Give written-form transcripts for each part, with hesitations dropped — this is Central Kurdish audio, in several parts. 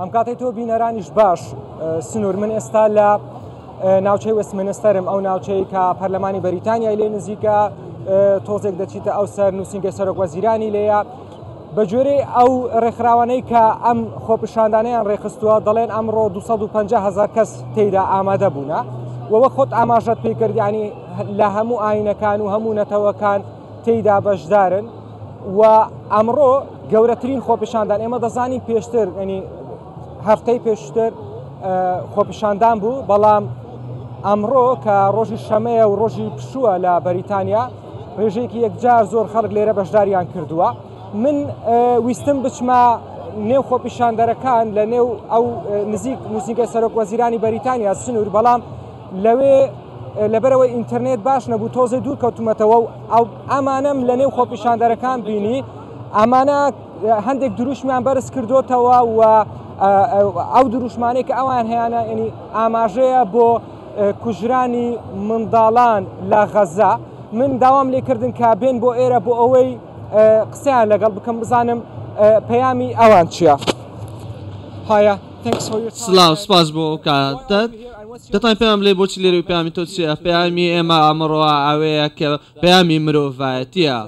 ئەم کاتەی تۆ بینەرانیش باش سنوور من ئێستا لە ناوچەی وەستمنستەرم ئەو ناوچەی کە پەرلەمانی بەریتانیای لێ نزیکە تۆزێک دەچیتە ئەو سەر نووسینگە سەرۆک وەزیرانی لێیە بە گوێرەی ئەو ڕێکخراوانەی کە ئەم خۆپیشاندانیان ڕێکخستووە دەڵێن ئەمڕۆ 250 هزار کەس تێیدا ئامادە بوونە و وەک خۆت ئاماژەت پێ کرد ینی لە هەموو ئاینەکان و هەموو نەتەوەکان تێیدا بەشدارن و ئەمڕۆ گەورەترین خۆپیشاندان ئێمە دەزانین پێشتر ینی هەفتەی پێشتر خۆپیشاندان بوو بەڵام ئەمڕۆ کە ڕۆژی شەمەیە و ڕۆژی پشووە لە بەریتانیا ڕێژەیەکی یەکجار زۆر خەڵک لێرە بەشداریان کردووە من ویستم بچمە نێو خۆپیشاندەرەکان لە نێو ئەو نزیک نووسینگەی سەرۆک وەزیرانی بەریتانیا سنوور بەڵام لەوێ لەبەرەوەی ئینتەرنێت باش نەبوو تۆزێ دوور کەوتومەتەوە و ئەو ئەمانەم لە نێو خۆپیشاندەرەکان بینی ئەمانە هەندێک دروشمیان بەرز کردوتەوە و ئەو دروشمانەی کە ئەوان هەیەە ینی ئاماژەیە بۆ کوژرانی منداڵان لە غەزە من داوام لێکردن کە بێن بۆ ئێرە بۆ ئەوەی قسەیان لەگەڵ بکەم بزانم پەیامی ئەوان چییە. هایا سلااو سپاس بۆ ئەو کاتت دەتوانین پێمان بڵێ بۆچی لێرە و پەیامی تۆ چییە پەیامی ئێمە ئەمڕۆ ئەوەیە کە پەیامی مرۆڤایەتیە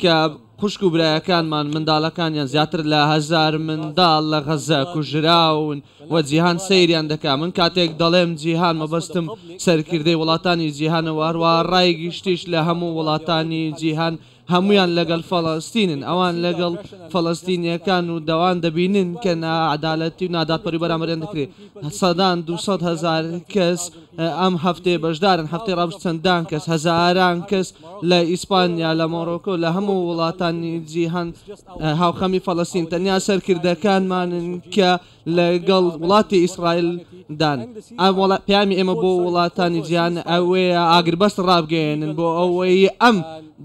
کە خوشک و برایەکانمان منداڵەکانیان زیاتر لە هەزار منداڵ لە غەزە کوژراون و جیهان سەیریان دەکا من کاتێک دەڵێم جیهان مەبەستم سەرکردەی وڵاتانی جیهانە و هەروەها ڕای گشتیش لە هەموو وڵاتانی جیهان هەموویان لەگەڵ فەڵەستینن، ئەوان لەگەڵ فەڵەستینییەکان و دەوان دەبینن کە ناعەدالەتی و نادادپەروی بەرامبەریان دەکرێت، سەدان 200 هەزار کەس ئەم هەفتەیە بەشدارن، هەفتەی ڕابردوو چەندان کەس، هەزاران کەس لە ئیسپانیا، لە مۆرۆکۆ، لە هەموو وڵاتانی جیهان هاوخەمی فەڵەستین، تەنیا سەرکردەکانمانن کە لەگەڵ وڵاتی ئیسرائیل دان. پەیامی ئێمە بۆ وڵاتانی جیهان ئەوەیە ئاگربەست ڕابگەیەنن بۆ ئەوەی ئەم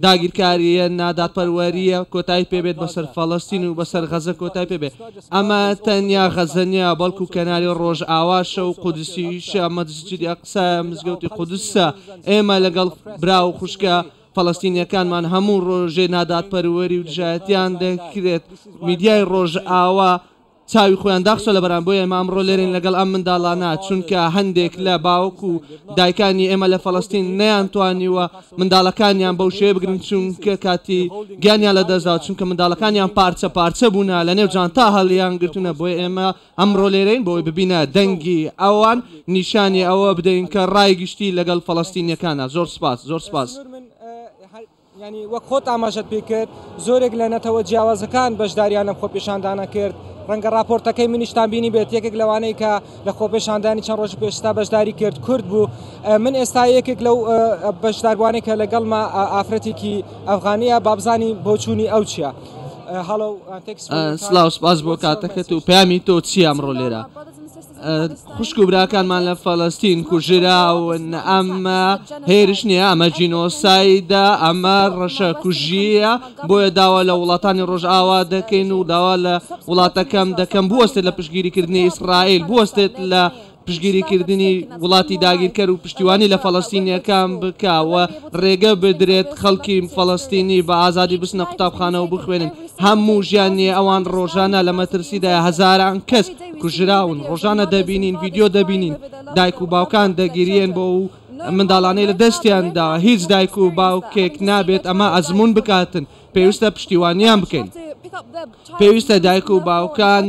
داگیرکارییە نادادپەروەرییە کۆتایی پێبێت بەسەر فەڵەستین و بەسەر غەزە کۆتایی پێبێت. ئەمە تەنیا غەزە نییە بەڵکو کەناری ڕۆژئاواشە و قودسیشە، مەسجدی ئەقسایە، مزگەوتی قودسە. ئێمە لەگەڵ برا و خوشکە فەڵەستینییەکانمان هەموو ڕۆژێ نادادپەروەری و دژایەتیان دەکرێت. میدیای ڕۆژئاوا چاوی خۆیان داخستوە لەبەران بۆیە ئێمە ئەمڕۆ لێرەین لەگەڵ ئەم منداڵانە چونکە هەندێک لە باوک و دایکانی ئێمە لە فەڵەستین نەیانتوانیوە منداڵەکانیان بەو شێوەیە بگرن چونکە کاتی گیانیان لەدەستداوە چونکە منداڵەکانیان پارچە پارچە بوونە لەنێو جانتا هەڵیان گرتوونە بۆیە ئێمە ئەمڕۆ لێرەین بۆی ببینە دەنگی ئەوان نیشانی ئەوە بدەین کە ڕای گشتی لەگەڵ فەڵەستینیەکانە زۆر سپاس زۆر سپاس. یانی وەک خۆت ئاماژەت پێ کرد زۆرێک لە نەتەوە جیاوازەکان بەشداریان لەم خۆپێشاندانە کرد ڕەنگە راپۆرتەکەی منیشتان بینی بێت یەکێک لەوانەی کە لە خۆپێشاندانی چەند ڕۆژ پێشتا بەشداری کرد کورد بوو من ئێستا یەکێک لەو بەشداربووانەی کە لەگەڵما ئافرەتێکی ئەفغانیە بابزانی بۆچوونی ئەو چییە؟ سلااو سپاس بۆ کاتەکەت و پامی تۆ چی ئەمڕۆ لێرە؟ خوشک و براکانمان لە فەلەستین کوژراون، ئەمە هێرش نییە، ئەمە جینۆسایدە، ئەمە ڕەشەکوژییە، بۆیە داوا لە وڵاتانی ڕۆژئاوا دەکەین و داوا لە وڵاتەکەم دەکەم بوەستێت لە پشتگیریکردنی ئیسرائیل، بوەستێت لە پشتگیریکردنی وڵاتی داگیرکەر و پشتیوانی لە فەلەستینییەکان بکا و ڕێگە بدرێت خەڵکی فەلەستینی بە ئازادی بچنە قوتابخانە و بخوێنن، هەموو ژیانی ئەوان ڕۆژانە لە مەترسیدایە، هەزاران کەس کوژراون، ڕۆژانە دەبینین، ڤیدیۆ دەبینین، دایک و باوکان دەگریێن بۆ ئەو منداڵانەی لە دەستیان داوە، هیچ دایک و باوکێک نابێت ئەمە ئەزموون بکاتن، پێویستە پشتیوانیان بکەین، پێویستە دایک و باوکان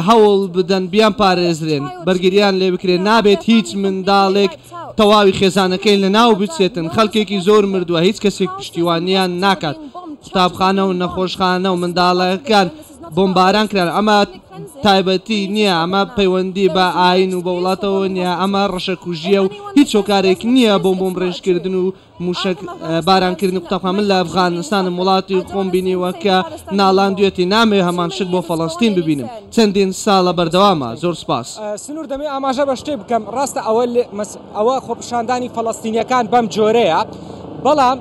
هەوڵ بدەن بیانپارێزرێن، بەرگریان لێ بکرێت، نابێت هیچ منداڵێک تەواوی خێزانەکەی لەناو بچێتن، خەڵکێکی زۆر مردووە، هیچ کەسێک پشتیوانیان ناکات، قوتابخانە و نەخۆشخانە و منداڵەکان بۆمباران کران، ئەمە تایبەتی نییە، ئەمە پەیوەندی بە ئاین و بە وڵاتەوە نییە، ئەمە ڕەشەکوژییە و هیچ هۆکارێک نییە بۆ بۆمبڕێژکردن و موشەک بارانکردنی قوتابخانە. من لە ئەفغانستانم، وڵاتی خۆم بینیوە کە ناڵاندویەتی، نامەوێت هەمان شت بۆ فەڵەستین ببینم، چەندین ساڵە بەردەوامە. زۆر سوپاس. سنور دەمەوێت ئاماژە بە شتێک بکەم، ڕاستە ئەوە ئەوە خۆپیشاندانی فەڵەستینیەکان بەم جۆرەیە، بەڵام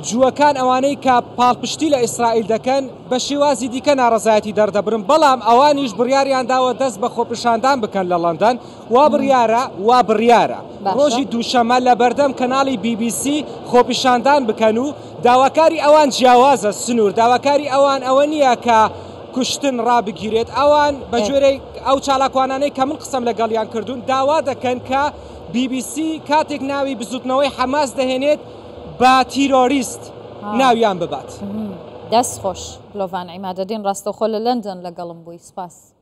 جووەکان ئەوانەی کە پاڵپشتی لە ئیسرائیل دەکەن بە شێوازی دیکە ناڕەزایەتی دەردەبرن، بەڵام ئەوانیش بڕیاریان داوە دەست بە خۆپیشاندان بکەن لە لەندەن، وا بڕیارە وا بڕیارە ڕۆژی دووشەممە لە بەردەم کەناڵی بی بی سی خۆپیشاندان بکەن و داواکاری ئەوان جیاوازە سنوور داواکاری ئەوان ئەوە نییە کە. کوشتن ڕابگیرێت. ئەوان بە گوێرەی ئەو چالاکوانانەی کە من قسەم لەگەڵیان کردوون داوا دەکەن کە بی بی سی کاتێک ناوی بزوتنەوەی حەماس دەهێنێت بە تیرۆریست ناویان ببات. دەست خۆش دلۆڤان عیمادەدین ڕاستەوخۆ لە لەندەن لەگەڵم بووی سپاس.